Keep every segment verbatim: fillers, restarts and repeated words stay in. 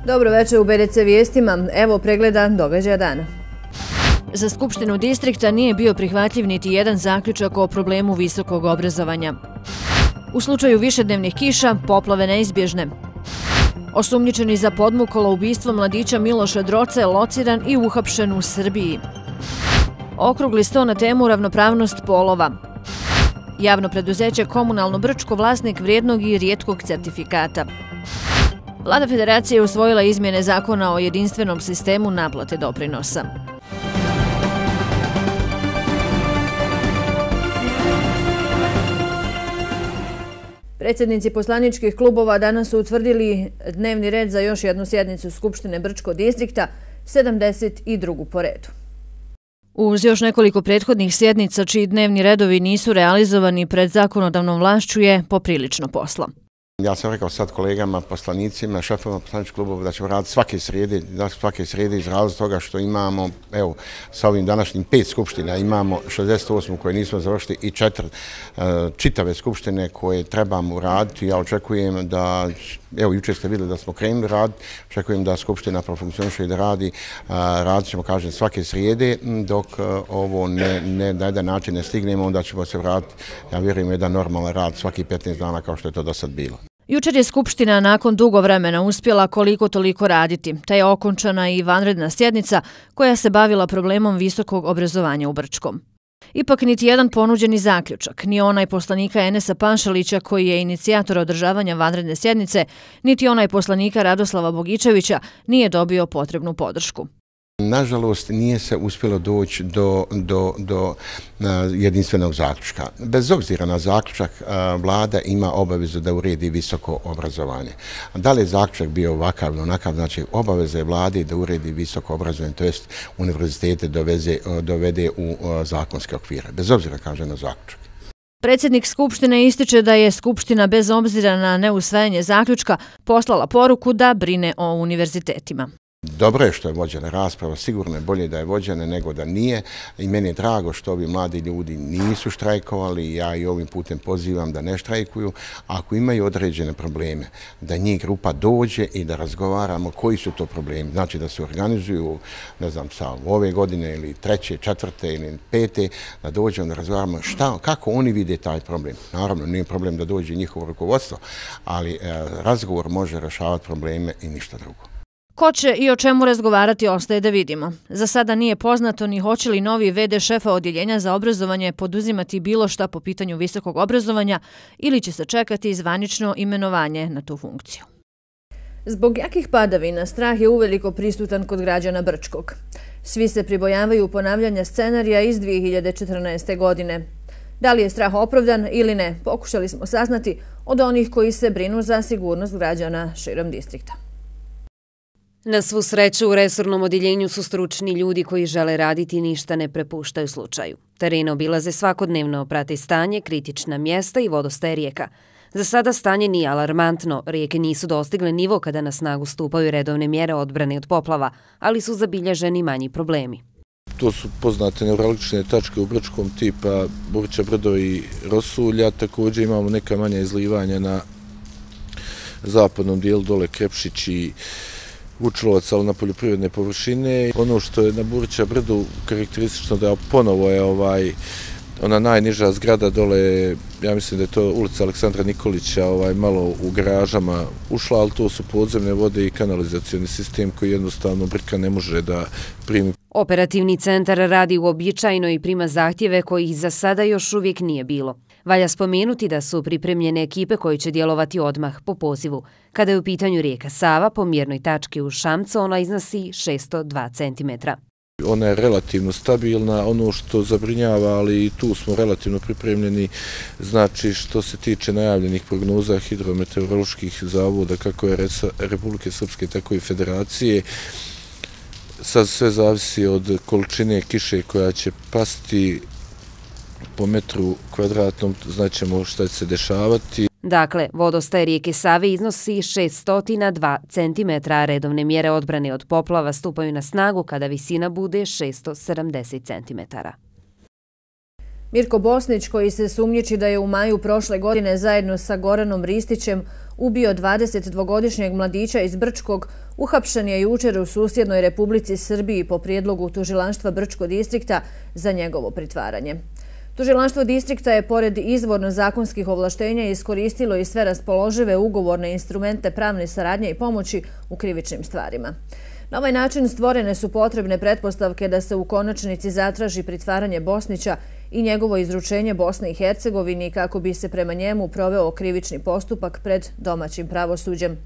Dobro večer u B D C vijestima. Evo pregleda događaja dana. Za Skupštinu distrikta nije bio prihvatljiv niti jedan zaključak o problemu visokog obrazovanja. U slučaju višednevnih kiša, poplave neizbježne. Osumnjičeni za podmukolo ubistvo mladića Miloša Droce lociran i uhapšen u Srbiji. Okrugli sto na temu ravnopravnost polova. Javno preduzeće Komunalno Brčko vlasnik vrijednog i rijetkog certifikata. Vlada Federacije je usvojila izmjene zakona o jedinstvenom sistemu naplate doprinosa. Predsjednici poslaničkih klubova danas su utvrdili dnevni red za još jednu sjednicu Skupštine Brčko distrikta, sedamdeset drugu po redu. Uz još nekoliko prethodnih sjednica čiji dnevni redovi nisu realizovani pred zakonodavnom vlašću je poprilično posla. Ja sam rekao sad kolegama, poslanicima, šefovima poslaničkih klubova da ćemo raditi svake srijede, da svake srijede iz razloga toga što imamo, evo, sa ovim današnjim pet skupština imamo šezdeset osmu koje nismo završili i četiri uh, čitave skupštine koje trebamo raditi. Ja očekujem da, evo, jučer ste vidjeli da smo krenuli raditi, očekujem da skupština profunkcioniše i da radi, uh, radit ćemo, kažem, svake srijede, dok uh, ovo ne, ne, na jedan način ne stignemo, onda ćemo se vratiti, ja vjerujem, jedan normalan rad svaki petnaest dana kao što je to do sad bilo. Jučer je Skupština nakon dugo vremena uspjela koliko toliko raditi, te je okončana i vanredna sjednica koja se bavila problemom visokog obrazovanja u Brčkom. Ipak niti jedan ponuđeni zaključak, ni onaj poslanika Enesa Panšalića koji je inicijator održavanja vanredne sjednice, niti onaj poslanika Radoslava Bogičevića nije dobio potrebnu podršku. Nažalost, nije se uspjelo doći do, do, do uh, jedinstvenog zaključka. Bez obzira na zaključak, uh, vlada ima obavezu da uredi visoko obrazovanje. Da li je zaključak bio ovakav ili onakav, znači obaveza je vlade da uredi visoko obrazovanje, to jest univerzitete doveze, uh, dovede u uh, zakonske okvire. Bez obzira, kaže, na zaključak. Predsjednik Skupštine ističe da je Skupština bez obzira na neusvajanje zaključka poslala poruku da brine o univerzitetima. Dobro je što je vođena rasprava, sigurno je bolje da je vođena nego da nije i meni je drago što ovi mladi ljudi nisu štrajkovali, ja i ovim putem pozivam da ne štrajkuju. Ako imaju određene probleme, da njih grupa dođe i da razgovaramo koji su to problemi. Znači da se organizuju, ne znam, sa ove godine ili treće, četvrte ili pete, da dođemo da razgovaramo šta, kako oni vide taj problem. Naravno, nije problem da dođe njihovo rukovodstvo, ali eh, razgovor može rješavati probleme i ništa drugo. Ko će i o čemu razgovarati ostaje da vidimo. Za sada nije poznato ni hoće li novi ve de šefa odjeljenja za obrazovanje poduzimati bilo šta po pitanju visokog obrazovanja ili će se čekati zvanično imenovanje na tu funkciju. Zbog jakih padavina strah je uveliko prisutan kod građana Brčkog. Svi se pribojavaju ponavljanja scenarija iz dvije hiljade četrnaeste. godine. Da li je strah opravdan ili ne, pokušali smo saznati od onih koji se brinu za sigurnost građana širom distrikta. Na svu sreću u resornom odjeljenju su stručni ljudi koji žele raditi i ništa ne prepuštaju slučaju. Teren obilaze svakodnevno, prate stanje, kritična mjesta i vodostaje rijeka. Za sada stanje nije alarmantno, rijeke nisu dostigle nivo kada na snagu stupaju redovne mjere odbrane od poplava, ali su zabilježeni manji problemi. To su poznate neuralgične tačke u Brčkom tipa Burića Brdo i Rosulja, također imamo neka manja izlivanja na zapadnom dijelu dole Krepšić i Vučlovac, ali na poljoprivredne površine. Ono što je na Burića Brdu karakteristično da ponovo je ovaj, ona najniža zgrada dole, ja mislim da je to ulica Aleksandra Nikolića, ovaj, malo u garažama ušla, ali to su podzemne vode i kanalizacioni sistem koji jednostavno Brka ne može da primi. Operativni centar radi uobičajeno i prima zahtjeve kojih za sada još uvijek nije bilo. Valja spomenuti da su pripremljene ekipe koje će djelovati odmah po pozivu. Kada je u pitanju rijeka Sava, po mjernoj tački u Šamcu ona iznosi šesto dva centimetra. Ona je relativno stabilna, ono što zabrinjava, ali i tu smo relativno pripremljeni, znači što se tiče najavljenih prognoza hidrometeoroloških zavoda, kako je Republike Srpske, tako i Federacije. Sad sve zavisi od količine kiše koja će pasti po metru kvadratnom, znaćemo šta će se dešavati. Dakle, vodostaj rijeke Save iznosi šesto dva centimetra, a redovne mjere odbrane od poplava stupaju na snagu kada visina bude šesto sedamdeset centimetara. Mirko Bosnić, koji se sumnjiči da je u maju prošle godine zajedno sa Goranom Ristićem ubio dvadesetdvogodišnjeg mladića iz Brčkog, uhapšen je jučer u susjednoj Republici Srbiji po prijedlogu Tužilaštva Brčko distrikta za njegovo pritvaranje. Tužilaštvo distrikta je pored izvorno zakonskih ovlaštenja iskoristilo i sve raspoložive ugovorne instrumente pravne saradnje i pomoći u krivičnim stvarima. Na ovaj način stvorene su potrebne pretpostavke da se u konačnici zatraži pritvaranje Bosnića i njegovo izručenje Bosni i Hercegovini kako bi se prema njemu proveo krivični postupak pred domaćim pravosuđem.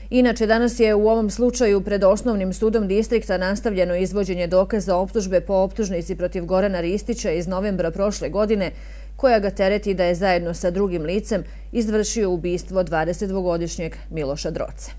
Inače, danas je u ovom slučaju pred Osnovnim sudom distrikta nastavljeno izvođenje dokaza optužbe po optužnici protiv Gorana Ristića iz novembra prošle godine, koja ga tereti da je zajedno sa drugim licem izvršio ubistvo dvadesetdvogodišnjeg Miloša Droce.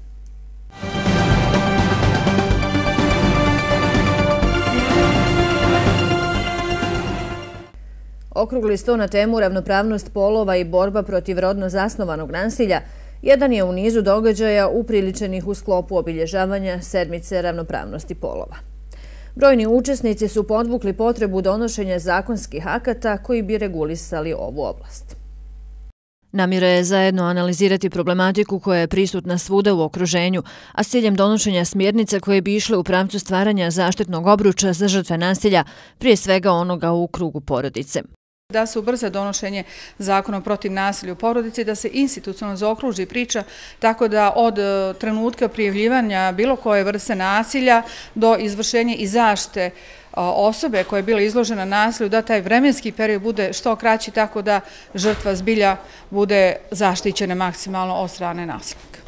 Okrugli sto na temu ravnopravnost polova i borba protiv rodno zasnovanog nasilja jedan je u nizu događaja upriličenih u sklopu obilježavanja sedmice ravnopravnosti polova. Brojni učesnici su podvukli potrebu donošenja zakonskih akata koji bi regulisali ovu oblast. Namjera je zajedno analizirati problematiku koja je prisutna svuda u okruženju, a s ciljem donošenja smjernica koje bi išle u pravcu stvaranja zaštitnog obruča za žrtve nasilja, prije svega onoga u krugu porodice. Da se ubrza donošenje zakona protiv nasilja u porodici, da se institucionalno zaokruži priča tako da od trenutka prijavljivanja bilo koje vrste nasilja do izvršenja i zaštite osobe koja je bila izložena nasilju, da taj vremenski period bude što kraći tako da žrtva zbilja bude zaštićena maksimalno od strane nasilnika.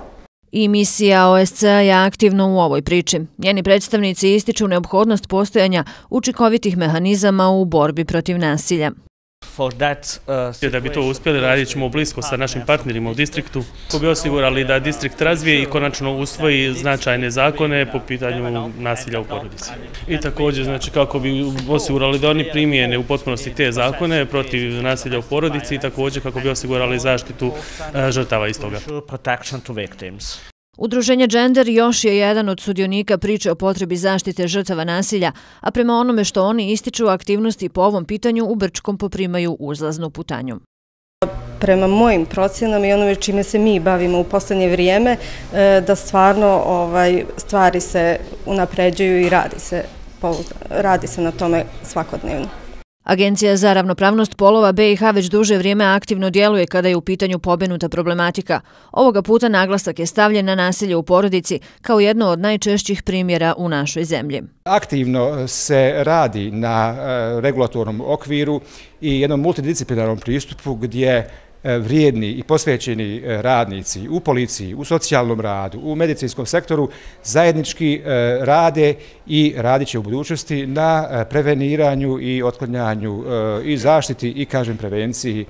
I misija O S C A je aktivno u ovoj priči. Njeni predstavnici ističu neophodnost postojanja učinkovitih mehanizama u borbi protiv nasilja. Da bi to uspjeli, radit ćemo blisko sa našim partnerima u distriktu, kako bi osigurali da distrikt razvije i konačno usvoji značajne zakone po pitanju nasilja u porodici. I također, znači, kako bi osigurali da oni primijene u potpunosti te zakone protiv nasilja u porodici i također kako bi osigurali zaštitu žrtava iz toga. Udruženje Gender još je jedan od sudionika priče o potrebi zaštite žrtava nasilja, a prema onome što oni ističu, aktivnosti po ovom pitanju u Brčkom poprimaju uzlaznu putanju. Prema mojim procjenama i onome čime se mi bavimo u posljednje vrijeme, da stvarno stvari se unapređuju i radi se na tome svakodnevno. Agencija za ravnopravnost polova B i H već duže vrijeme aktivno djeluje kada je u pitanju pomenuta problematika. Ovoga puta naglasak je stavljen na nasilje u porodici kao jedno od najčešćih primjera u našoj zemlji. Aktivno se radi na regulatornom okviru i jednom multidisciplinarnom pristupu gdje vrijedni i posvećeni radnici u policiji, u socijalnom radu, u medicinskom sektoru zajednički rade i radit će u budućnosti na preveniranju i otklanjanju i zaštiti i, kažem, prevenciji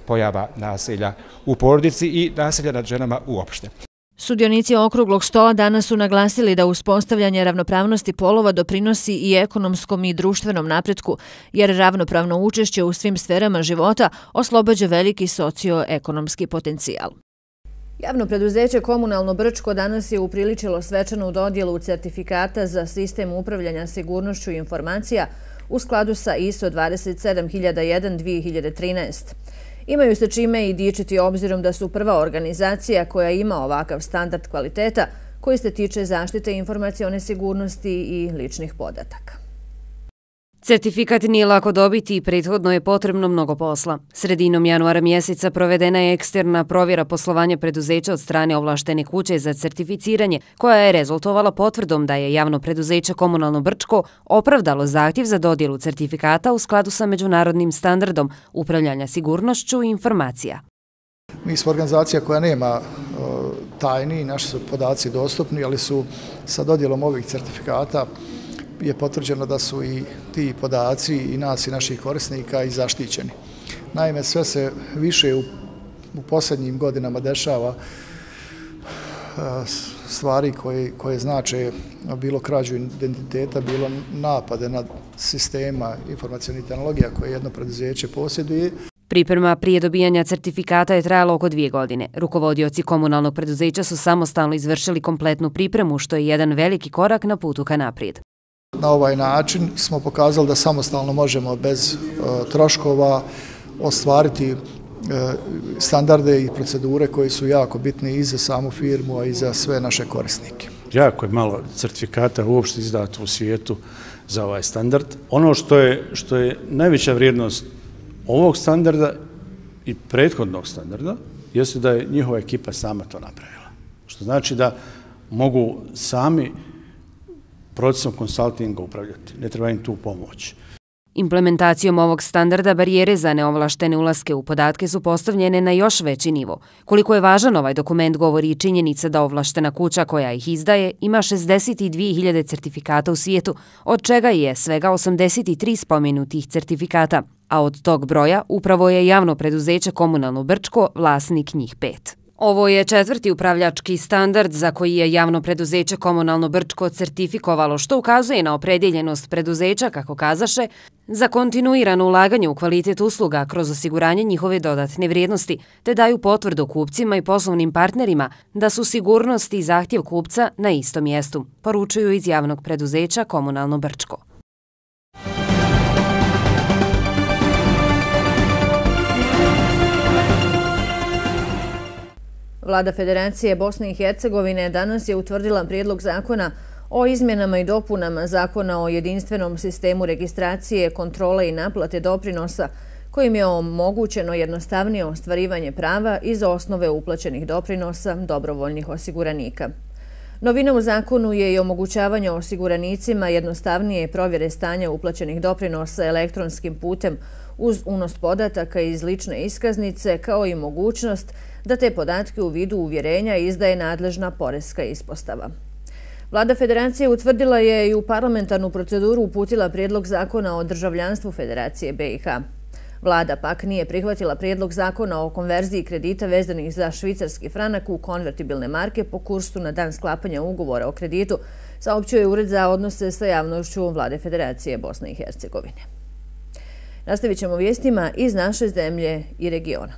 pojava nasilja u porodici i nasilja nad ženama uopšte. Sudionici okruglog stola danas su naglasili da uspostavljanje ravnopravnosti polova doprinosi i ekonomskom i društvenom napretku, jer ravnopravno učešće u svim sferama života oslobađa veliki socioekonomski potencijal. Javno preduzeće Komunalno Brčko danas je upriličilo svečanu dodjelu certifikata za sistem upravljanja sigurnošću informacija u skladu sa I S O dvadeset sedam hiljada jedan dvije hiljade trinaest. Imaju se čime i dičiti obzirom da su prva organizacija koja ima ovakav standard kvaliteta koji se tiče zaštite informacione sigurnosti i ličnih podataka. Certifikat nije lako dobiti i prethodno je potrebno mnogo posla. Sredinom januara mjeseca provedena je eksterna provjera poslovanja preduzeća od strane ovlaštene kuće za certificiranje, koja je rezultovala potvrdom da je javno preduzeće Komunalno Brčko opravdalo zahtjev za dodjelu certifikata u skladu sa međunarodnim standardom upravljanja sigurnošću i informacija. Mi smo organizacija koja nema tajni, naši su podaci dostupni, ali su sa dodjelom ovih certifikata je potvrđeno da su i ti podaci i nas i naših korisnika i zaštićeni. Naime, sve se više u, u posljednjim godinama dešava stvari koje, koje znače bilo krađu identiteta, bilo napade na sistema informacijalnih tehnologija koje jedno preduzeće posjeduje. Priprema prije dobijanja certifikata je trajala oko dvije godine. Rukovodioci komunalnog preduzeća su samostalno izvršili kompletnu pripremu, što je jedan veliki korak na putu ka naprijed. Na ovaj način smo pokazali da samostalno možemo bez uh, troškova ostvariti standarde i procedure koji su jako bitni i za samu firmu, a i za sve naše korisnike. Jako je malo certifikata uopšte izdato u svijetu za ovaj standard. Ono što je, što je najveća vrijednost ovog standarda i prethodnog standarda jeste da je njihova ekipa sama to napravila. Što znači da mogu sami procesom konsultinga upravljati. Ne treba im tu pomoć. Implementacijom ovog standarda barijere za neovlaštene ulaske u podatke su postavljene na još veći nivo. Koliko je važan ovaj dokument govori i činjenica da ovlaštena kuća koja ih izdaje ima šezdeset dvije hiljade certifikata u svijetu, od čega je svega osamdeset tri spomenutih certifikata, a od tog broja upravo je javno preduzeće Komunalno Brčko vlasnik njih pet. Ovo je četvrti upravljački standard za koji je javno preduzeće Komunalno Brčko certifikovalo, što ukazuje na opredjeljenost preduzeća, kako kazaše, za kontinuirano ulaganje u kvalitet usluga kroz osiguranje njihove dodatne vrijednosti, te daju potvrdu kupcima i poslovnim partnerima da su sigurnost i zahtjev kupca na istom mjestu, poručuju iz javnog preduzeća Komunalno Brčko. Vlada Federacije Bosne i Hercegovine danas je utvrdila prijedlog zakona o izmjenama i dopunama Zakona o jedinstvenom sistemu registracije, kontrole i naplate doprinosa, kojim je omogućeno jednostavnije ostvarivanje prava iz osnove uplaćenih doprinosa dobrovoljnih osiguranika. Novina u zakonu je i omogućavanje osiguranicima jednostavnije provjere stanja uplaćenih doprinosa elektronskim putem uz unos podataka iz lične iskaznice, kao i mogućnost da te podatke u vidu uvjerenja izdaje nadležna poreska ispostava. Vlada Federacije utvrdila je i u parlamentarnu proceduru uputila prijedlog zakona o državljanstvu Federacije B i H. Vlada pak nije prihvatila prijedlog zakona o konverziji kredita vezanih za švicarski franak u konvertibilne marke po kursu na dan sklapanja ugovora o kreditu, saopćio je Ured za odnose sa javnošću Vlade Federacije Bosne i Hercegovine. Nastavit ćemo vijestima iz naše zemlje i regiona.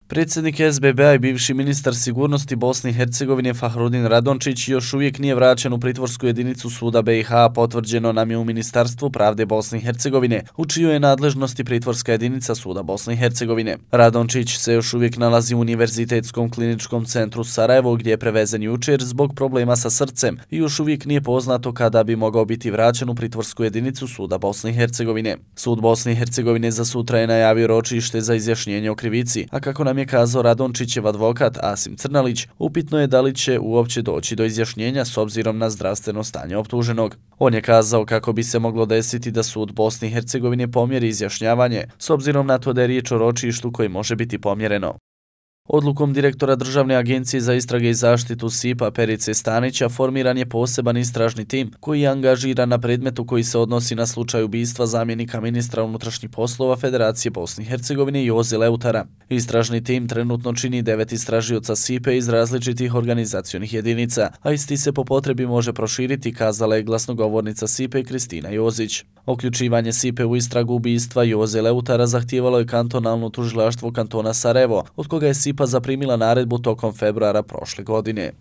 Predsjednik S B B-a i bivši ministar sigurnosti Bosne i Hercegovine Fahrudin Radončić još uvijek nije vraćen u pritvorsku jedinicu suda B i H, potvrđeno nam je u Ministarstvu pravde Bosne i Hercegovine, u čijoj je nadležnosti pritvorska jedinica suda Bosne i Hercegovine. Radončić se još uvijek nalazi u Univerzitetskom kliničkom centru Sarajevo, gdje je prevezen jučer zbog problema sa srcem i još uvijek nije poznato kada bi mogao biti vraćen u pritvorsku jedinicu suda Bosne i Hercegovine. Sud Bosne i Hercegovine za sutra je najavio ročište za izjašnjenje o krivici, a kako nam je kazao Radončićev advokat Asim Crnalić, upitno je da li će uopće doći do izjašnjenja s obzirom na zdravstveno stanje optuženog. On je kazao kako bi se moglo desiti da sud Bosne i Hercegovine pomjeri izjašnjavanje s obzirom na to da je riječ o ročištu koji može biti pomjereno. Odlukom direktora Državne agencije za istrage i zaštitu S I P-a Perice Stanića formiran je poseban istražni tim koji je angažiran na predmetu koji se odnosi na slučaj ubistva zamjenika ministra unutrašnjih poslova Federacije Bosne i Hercegovine Joze Leutara. Istražni tim trenutno čini devet istražioca S I P-a iz različitih organizacionih jedinica, a isti se po potrebi može proširiti, kazala je glasnogovornica S I P-a Kristina Jozić. Uključivanje S I P-a u istragu ubistva Joze Leutara zahtijevalo je kantonalno tužilaštvo kantona Sarajevo, od koga je S I P-a zaprimila naredbu tokom februara prošle godine.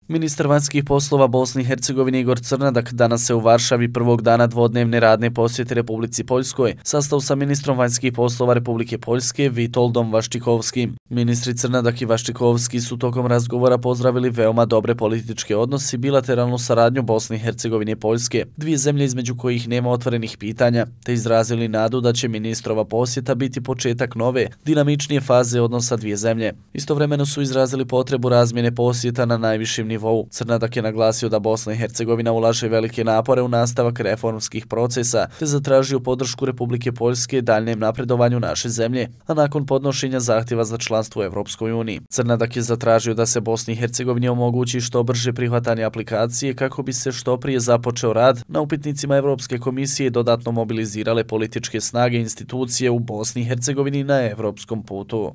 Ministar vanjskih poslova Bosne i Hercegovine Igor Crnadak danas se u Varšavi prvog dana dvodnevne radne posjete Republici Poljskoj sastao sa ministrom vanjskih poslova Republike Poljske Vitoldom Vaščikovskim. Ministri Crnadak i Vaščikovski su tokom razgovora pozdravili veoma dobre političke odnosi i bilateralnu saradnju Bosne i Hercegovine i Poljske, dvije zemlje između kojih nema otvorenih pitanja, te izrazili nadu da će ministrova posjeta biti početak nove, dinamičnije faze odnosa dvije zemlje. Istovremeno su izrazili potrebu razmjene posjeta na najvišim nivou. Crnadak je naglasio da Bosna i Hercegovina ulaže velike napore u nastavak reformskih procesa, te zatražio podršku Republike Poljske daljnjem napredovanju naše zemlje, a nakon podnošenja zahtjeva za članstvo u Evropskoj uniji. Crnadak je zatražio da se Bosni i Hercegovini omogući što brže prihvatanje aplikacije kako bi se što prije započeo rad na upitnicima Evropske komisije i dodatno mobilizirale političke snage i institucije u Bosni i Hercegovini na evropskom putu.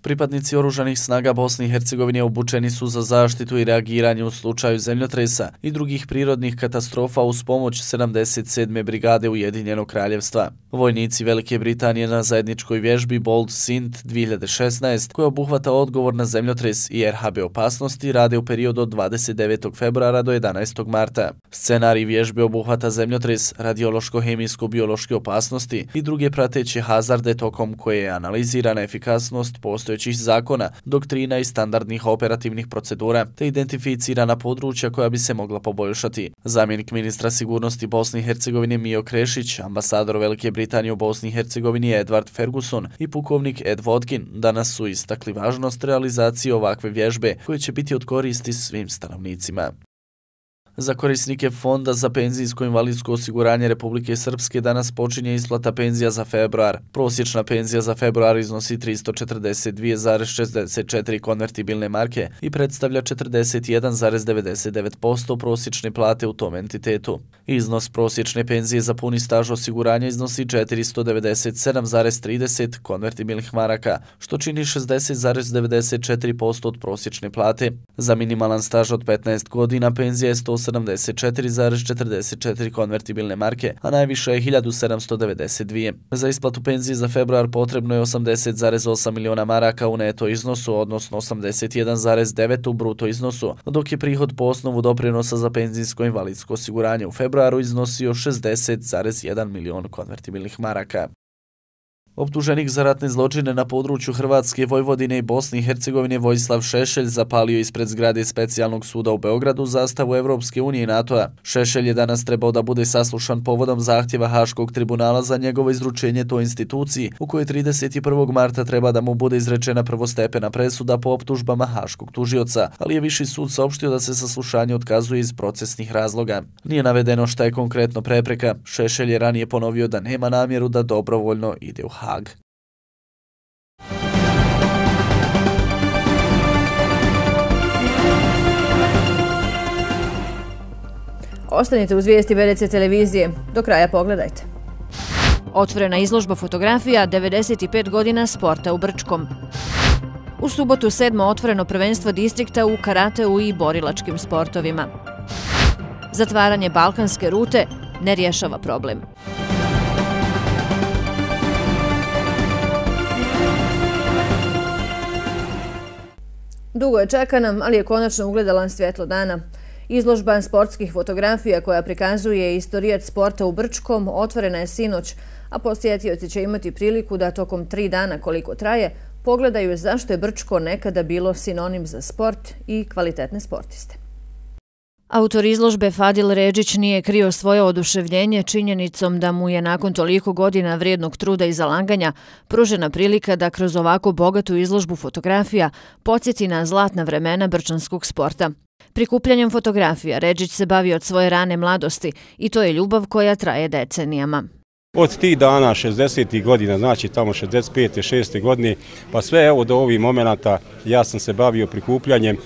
Pripadnici oružanih snaga Bosne i Hercegovine obučeni su za zaštitu i reagiranje u slučaju zemljotresa i drugih prirodnih katastrofa uz pomoć sedamdeset sedme brigade Ujedinjenog kraljevstva. Vojnici Velike Britanije na zajedničkoj vježbi Bold Sint dvije hiljade šesnaest, koja obuhvata odgovor na zemljotres i R H B opasnosti, rade u periodu od dvadeset devetog februara do jedanaestog marta. Scenarij vježbe obuhvata zemljotres, radiološko-hemijsko-biološke opasnosti i druge prateće hazarde tokom koje je analizirana efikasnost postojećih zakona, doktrina i standardnih operativnih procedura, te identificirana područja koja bi se mogla poboljšati. Zamjenik ministra sigurnosti Bosne i Hercegovine Mio Krešić, ambasador Velike Britanije u Bosni i Hercegovini Edward Ferguson i pukovnik Ed Vodkin danas su istakli važnost realizacije ovakve vježbe koje će biti od koristi svim stanovnicima. Za korisnike Fonda za penzijsko invalidsko osiguranje Republike Srpske danas počinje isplata penzija za februar. Prosječna penzija za februar iznosi tristo četrdeset dvije zarez šezdeset četiri konvertibilne marke i predstavlja četrdeset jedan zarez devedeset devet posto prosječne plate u tom entitetu. Iznos prosječne penzije za puni staž osiguranja iznosi četiristo devedeset sedam zarez trideset konvertibilnih maraka, što čini šezdeset zarez devedeset četiri posto od prosječne plate. Za minimalan staž od petnaest godina penzija je sto sedamdeset četiri zarez četrdeset četiri konvertibilne marke, a najviše je hiljadu sedamsto devedeset dvije. Za isplatu penzije za februar potrebno je osamdeset zarez osam miliona maraka u neto iznosu, odnosno osamdeset jedan zarez devet u bruto iznosu, dok je prihod po osnovu doprinosa za penzijsko invalidsko osiguranje u februaru iznosio šezdeset zarez jedan milion konvertibilnih maraka. Optuženik za ratne zločine na području Hrvatske, Vojvodine i Bosne i Hercegovine Vojislav Šešelj zapalio ispred zgrade specijalnog suda u Beogradu zastavu Evropske unije i NATO-a. Šešelj je danas trebao da bude saslušan povodom zahtjeva Haškog tribunala za njegovo izručenje toj instituciji, u kojoj trideset prvog marta treba da mu bude izrečena prvostepena presuda po optužbama Haškog tužioca, ali je Viši sud saopštio da se saslušanje otkazuje iz procesnih razloga. Nije navedeno šta je konkretno prepreka. Šešelj je ranije ponovio da nema namjeru da dobrovoljno ide u Hag. Ostanite uz vijesti B D C televizije. Do kraja pogledajte. Otvorena izložba fotografija devedeset pet godina sporta u Brčkom. U subotu sedmo otvoreno prvenstvo distrikta u karateu i borilačkim sportovima. Zatvaranje balkanske rute ne rješava problem. Dugo je čekana, ali je konačno ugledala svjetlo dana. Izložba sportskih fotografija koja prikazuje istorijat sporta u Brčkom otvorena je sinoć, a posjetioci će imati priliku da tokom tri dana koliko traje pogledaju zašto je Brčko nekada bilo sinonim za sport i kvalitetne sportiste. Autor izložbe Fadil Redžić nije krio svoje oduševljenje činjenicom da mu je nakon toliko godina vrijednog truda i zalaganja pružena prilika da kroz ovako bogatu izložbu fotografija podsjeti na zlatna vremena brčanskog sporta. Prikupljanjem fotografija Redžić se bavi od svoje rane mladosti i to je ljubav koja traje decenijama. Od tih dana, šezdesetih godina, znači tamo šezdeset pete šeste godine, pa sve evo do ovih momenata ja sam se bavio prikupljanjem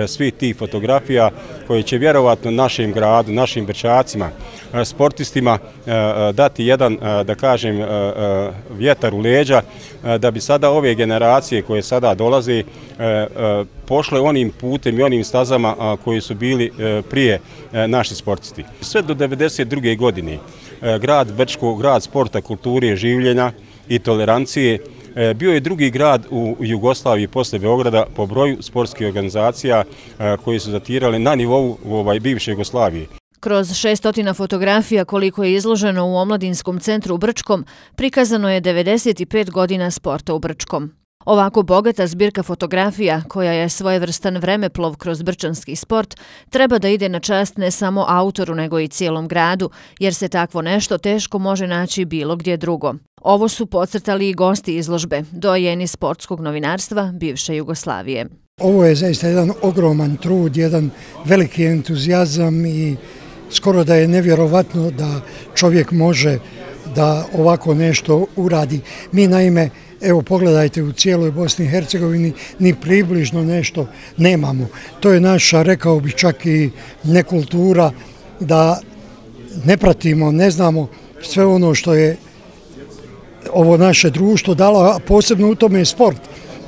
svih tih fotografija koje će vjerovatno našem gradu, našim Brčacima, sportistima dati jedan, da kažem, vjetar u leđa, da bi sada ove generacije koje sada dolaze pošle onim putem i onim stazama koji su bili prije naši sportisti. Sve do devedeset druge godine grad Brčko, grad sporta, kulture, življenja i tolerancije, bio je drugi grad u Jugoslaviji posle Beograda po broju sportskih organizacija koji su datirali na nivou bivše Jugoslavije. Kroz šestotina fotografija koliko je izloženo u Omladinskom centru u Brčkom, prikazano je devedeset pet godina sporta u Brčkom. Ovako bogata zbirka fotografija, koja je svojevrstan vremeplov kroz brčanski sport, treba da ide na čast ne samo autoru nego i cijelom gradu, jer se takvo nešto teško može naći bilo gdje drugo. Ovo su podcrtali i gosti izložbe, dojeni sportskog novinarstva bivše Jugoslavije. Ovo je zaista jedan ogroman trud, jedan veliki entuzijazam i skoro da je nevjerovatno da čovjek može da ovako nešto uradi. Mi naime, evo pogledajte, u cijeloj Bosni i Hercegovini ni približno nešto nemamo. To je naša, rekao bih čak i nekultura, da ne pratimo, ne znamo sve ono što je ovo naše društvo dalo, a posebno u tome je sport.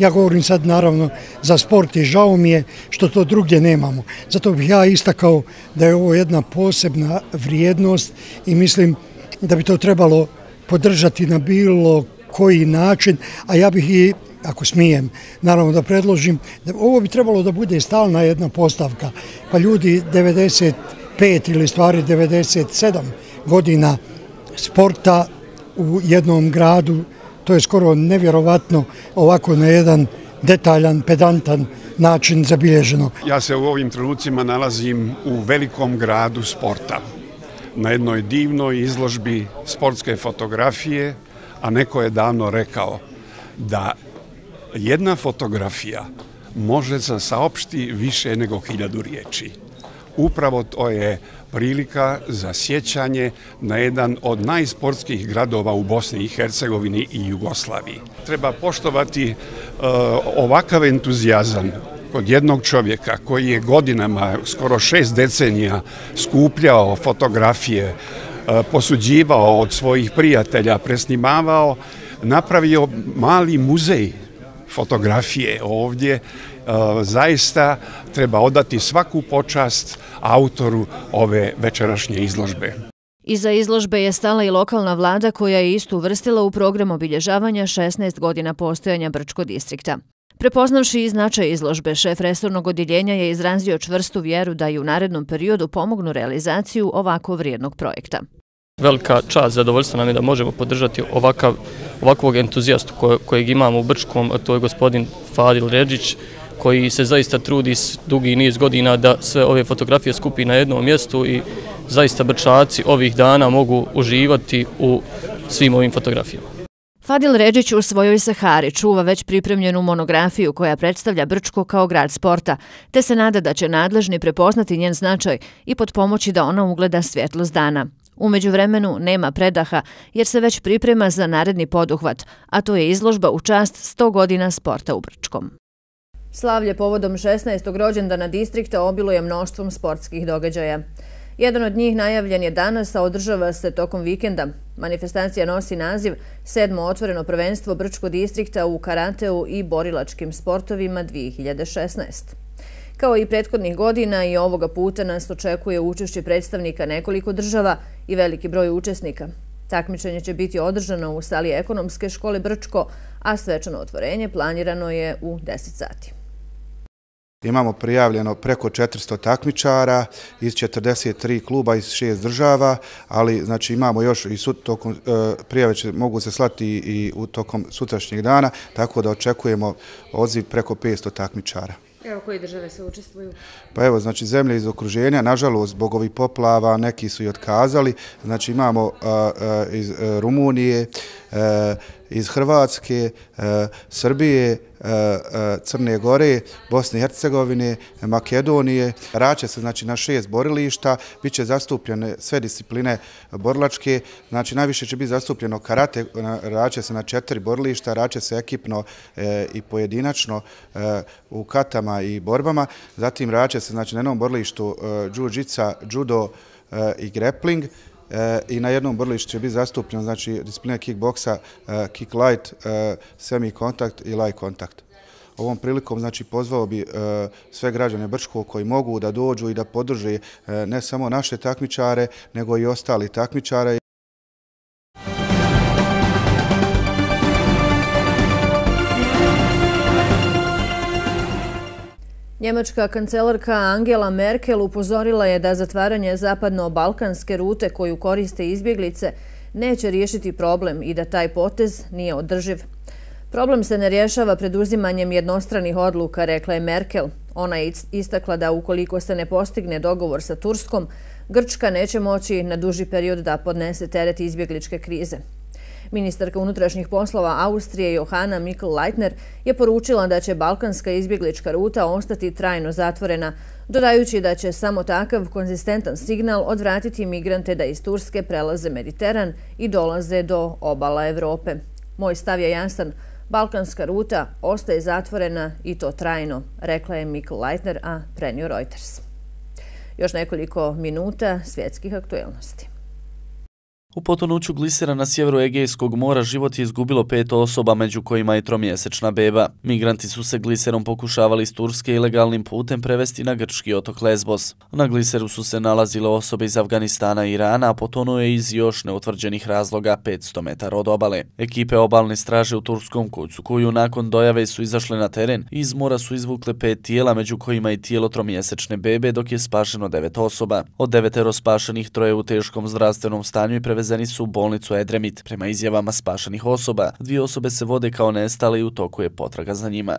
Ja govorim sad naravno za sport i žao mi je što to drugdje nemamo. Zato bih ja istakao da je ovo jedna posebna vrijednost i mislim da bi to trebalo podržati na bilo koji način, a ja bih i, ako smijem, naravno da predložim, da ovo bi trebalo da bude stalna jedna postavka, pa ljudi devedeset pet ili stvari devedeset sedam godina sporta u jednom gradu, to je skoro nevjerovatno ovako na jedan detaljan, pedantan način zabilježeno. Ja se u ovim trenucima nalazim u velikom gradu sporta, na jednoj divnoj izložbi sportske fotografije, a neko je davno rekao da jedna fotografija može da saopšti više nego hiljadu riječi. Upravo to je prilika za sjećanje na jedan od najsportskih gradova u Bosni i Hercegovini i Jugoslaviji. Treba poštovati uh, ovakav entuzijazam kod jednog čovjeka koji je godinama, skoro šest decenija, skupljao fotografije, uh, posuđivao od svojih prijatelja, presnimavao, napravio mali muzej fotografije ovdje. Zaista treba odati svaku počast autoru ove večerašnje izložbe. Iza izložbe je stala i lokalna vlada koja je istu uvrstila u program obilježavanja šesnaest godina postojanja Brčko distrikta. Prepoznavši i značaj izložbe, šef resornog odjeljenja je izrazio čvrstu vjeru da i u narednom periodu pomognu realizaciju ovako vrijednog projekta. Velika čast, zadovoljstvo nam je da možemo podržati ovakav, ovakvog entuzijastu kojeg imamo u Brčkom, a to je gospodin Fadil Redžić, koji se zaista trudi dugi niz godina da sve ove fotografije skupi na jednom mjestu i zaista Brčaci ovih dana mogu uživati u svim ovim fotografijama. Fadil Redžić u svojoj Sahari čuva već pripremljenu monografiju koja predstavlja Brčko kao grad sporta, te se nada da će nadležni prepoznati njen značaj i potpomoći da ona ugleda svjetlost dana. U međuvremenu nema predaha jer se već priprema za naredni poduhvat, a to je izložba u čast sto godina sporta u Brčkom. Slavlje povodom šesnaestog rođendana distrikta obiluje mnoštvom sportskih događaja. Jedan od njih najavljen je danas, a održava se tokom vikenda. Manifestacija nosi naziv Sedmo otvoreno prvenstvo Brčko distrikta u karateu i borilačkim sportovima dvije hiljade šesnaeste. Kao i prethodnih godina i ovoga puta nas očekuje učešće predstavnika nekoliko država i veliki broj učesnika. Takmičenje će biti održano u sali ekonomske škole Brčko, a svečano otvorenje planirano je u deset sati. Imamo prijavljeno preko četiristo takmičara iz četrdeset tri kluba iz šest država, ali znači imamo još i tokom prijave će mogu se slati i u tokom sutrašnjeg dana, tako da očekujemo odziv preko petsto takmičara. Evo, koje države se učestvuju? Pa evo, znači zemlje iz okruženja, nažalost, zbog ovih poplava, neki su i otkazali. Znači imamo iz Rumunije, iz Hrvatske, Srbije, Crne Gore, Bosne i Hercegovine, Makedonije. Rače se znači na šest borilišta, bit će zastupljene sve discipline borilačke, znači najviše će biti zastupljeno karate, rače se na četiri borilišta, rače se ekipno i pojedinačno u katama i borbama, zatim rače se znači na jednom borilištu džu-džica, judo i grappling, i na jednom borilištu će biti zastupljeno znači disciplina kickboksa, kick light, semi kontakt i light kontakt. Ovom prilikom znači pozvao bi sve građane Brčkog koji mogu da dođu i da podrže ne samo naše takmičare, nego i ostali takmičare. Njemačka kancelarka Angela Merkel upozorila je da zatvaranje zapadno-balkanske rute koju koriste izbjeglice neće riješiti problem i da taj potez nije održiv. Problem se ne rješava preduzimanjem jednostranih odluka, rekla je Merkel. Ona je istakla da ukoliko se ne postigne dogovor sa Turskom, Grčka neće moći na duži period da podnese teret izbjegličke krize. Ministarka unutrašnjih poslova Austrije Johanna Mikl-Leitner je poručila da će balkanska izbjeglička ruta ostati trajno zatvorena, dodajući da će samo takav konzistentan signal odvratiti migrante da iz Turske prelaze Mediteran i dolaze do obala Evrope. Moj stav je jasan, balkanska ruta ostaje zatvorena i to trajno, rekla je Mikl-Leitner, a prenio Reuters. Još nekoliko minuta svjetskih aktuelnosti. U potonuću glisera na sjeveru Egejskog mora život je izgubilo pet osoba, među kojima i tromjesečna beba. Migranti su se gliserom pokušavali iz Turske ilegalnim putem prevesti na grčki otok Lesbos. Na gliseru su se nalazile osobe iz Afganistana i Irana, a potonuo je iz još neutvrđenih razloga petsto metara od obale. Ekipe obalne straže u turskom kucu, koju nakon dojave su izašle na teren, iz mora su izvukle pet tijela, među kojima i tijelo tromjesečne bebe, dok je spašeno devet osoba. Od devetero spašenih troje u teškom zdravstvenom stanju i prevezeni su u bolnicu Edremit. Prema izjavama spašenih osoba, dvije osobe se vode kao nestale i u toku je potraga za njima.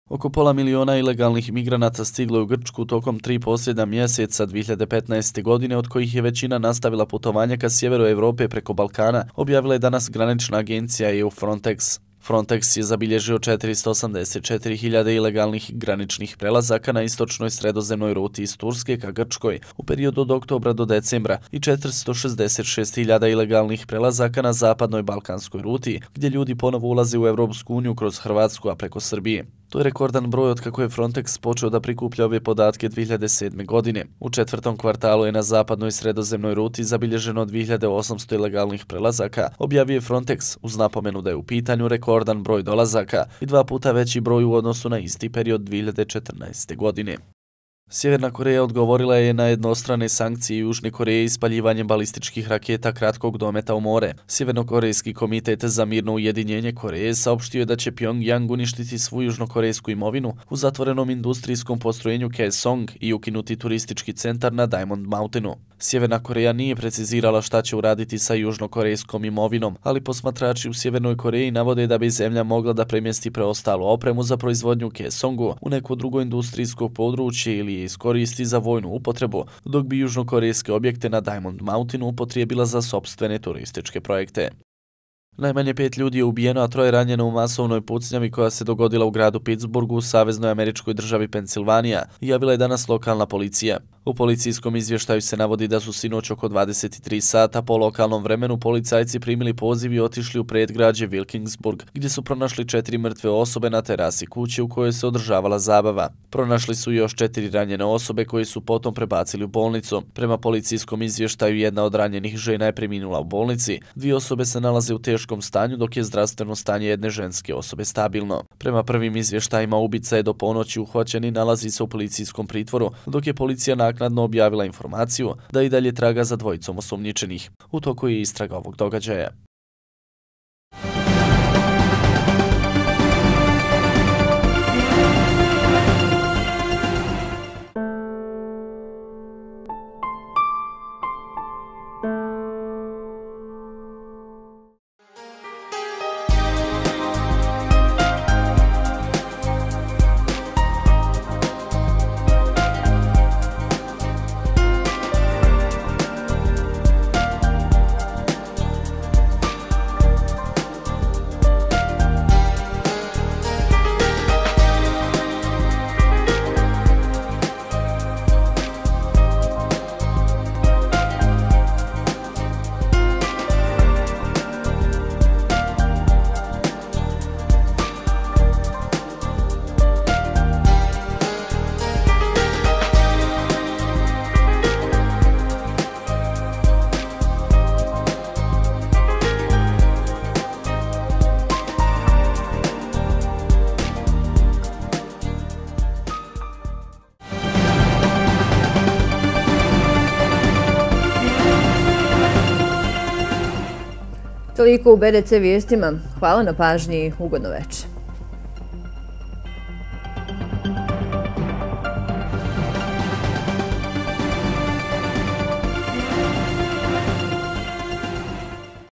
Oko pola miliona ilegalnih migranata stiglo je u Grčku tokom tri posljednja mjeseca dvije hiljade petnaeste. godine, od kojih je većina nastavila putovanja ka sjeveru Evrope preko Balkana, objavila je danas granična agencija E U Frontex. Frontex je zabilježio četiristo osamdeset četiri hiljade ilegalnih graničnih prelazaka na istočnoj sredozemnoj ruti iz Turske ka Grčkoj u periodu od oktobra do decembra i četiristo šezdeset šest hiljada ilegalnih prelazaka na zapadnoj balkanskoj ruti, gdje ljudi ponovo ulaze u Evropsku uniju kroz Hrvatsku, a preko Srbije. To je rekordan broj od kako je Frontex počeo da prikuplja ove podatke dvije hiljade sedme. godine. U četvrtom kvartalu je na zapadnoj sredozemnoj ruti zabilježeno dvije hiljade osamsto ilegalnih prelazaka, objavio je Frontex uz napomenu da je u pitanju rekordan broj dolazaka i dva puta veći broj u odnosu na isti period dvije hiljade četrnaeste. godine. Sjeverna Koreja odgovorila je na jednostrane sankcije Južne Koreje ispaljivanjem balističkih raketa kratkog dometa u more. Sjevernokorejski komitet za mirno ujedinjenje Koreje saopštio je da će Pyongyang uništiti svu južnokorejsku imovinu u zatvorenom industrijskom postrojenju Kaesong i ukinuti turistički centar na Diamond Mountainu. Sjeverna Koreja nije precizirala šta će uraditi sa južnokorejskom imovinom, ali posmatrači u Sjevernoj Koreji navode da bi zemlja mogla da premjesti preostalu opremu za proizvodnju Kaesongu u neko drugo industrijsko područje ili je iskoristi za vojnu upotrebu, dok bi južnokorejske objekte na Diamond Mountainu upotrijebila za sopstvene turističke projekte. Najmanje pet ljudi je ubijeno, a troje ranjeno u masovnoj pucnjavi koja se dogodila u gradu Pittsburghu u saveznoj američkoj državi Pensilvanija, javila je danas lokalna policija. U policijskom izvještaju se navodi da su sinoć oko dvadeset tri sata po lokalnom vremenu policajci primili poziv i otišli u predgrađe Wilkinsburg, gdje su pronašli četiri mrtve osobe na terasi kuće u kojoj se održavala zabava. Pronašli su još četiri ranjene osobe koje su potom prebacili u bolnicu. Prema policijskom izvještaju jedna od ranjenih žena je preminula u bolnici, dvije osobe se nalaze u teškom stanju, dok je zdravstveno stanje jedne ženske osobe stabilno. Prema prvim izvještajima ubica je do ponoći uhvaćen i nalazi se u policijskom pritvoru, dok je policija naknadno objavila informaciju da i dalje traga za dvojicom osumnjičenih. U toku je istraga ovog događaja. Toliko u B D C vijestima. Hvala na pažnji i ugodno večer.